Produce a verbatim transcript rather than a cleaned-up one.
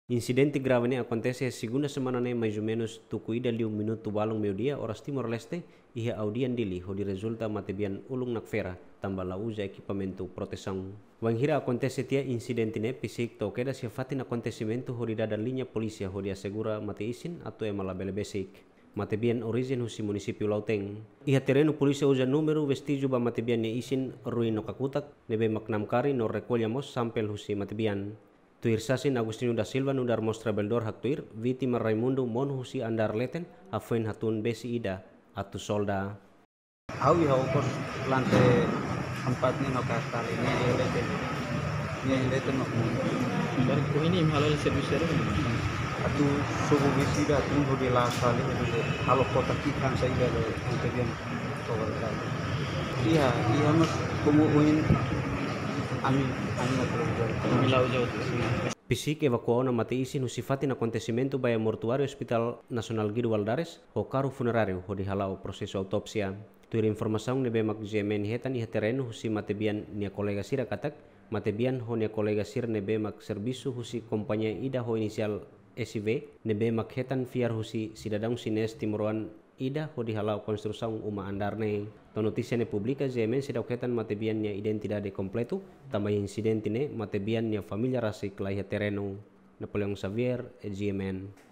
Insidente grave ne'e akontese iha segunda semana ne'e, mais ou menus tuku ida liu minutu balun meiudia, oras Timor-Leste, iha aldeia Dili, hodi rezulta matebian ulun nakfera, tanba la uza ekipamentu protesaun. Wainhira akontese tiha insidente ne'e, PCIC to'o kedas iha fatin akontesimentu hodi dada liña polísia hodi asegura mate-isin atu ema labele besik. Matebian orijen husi munisípiu Lautém. Iha terrenu polísia uza númeru vestíjiu ba matebian nia isin ruin no kakutak, ne'ebé mak namkari no rekolla mós sampel husi matebian. Tuir sasin Agostinho da Silva nu'udar mós trabalhadór haktuir, vítima Raimundo monu husi andár leten, hafoin hatún besi ida atu solda. Ha'u iha okos lante empat ne'e no kastali ne'e iha leten. Ne'e iha leten no monu. Dari ko ini mahala servisu dari. Atu sobu besi ida atu hodi la sali hodi halo kota kikan saida do ante bian. Iha, iha mas komu uin ami, ami la terus. Ami la uza. PCIC evakua ona mate-isin husi fatin akontesimentu ba iha mortuáriu Hospital Nasionál Guido Valadares, ho karru funeráriu hodi hala'o prosesu autópsia. Tuir informasaun ne'ebé mak GMN hetan iha terrenu husi matebian nia kolega sira katak, matebian ho nia kolega sira ne'ebé mak servisu husi kompañia ida ho inisiál S V, ne'ebé mak hetan fiar husi sidadaun xinés timoroan ida hodi hala'o konstrusaun uma andár ne'e. To'o notísia ne'e publika, GMN seidauk hetan matebian nia identidade kompletu, tanba insidente ne'e matebian nia família rasik la iha terrenu. Napoleão Xavier, GMN.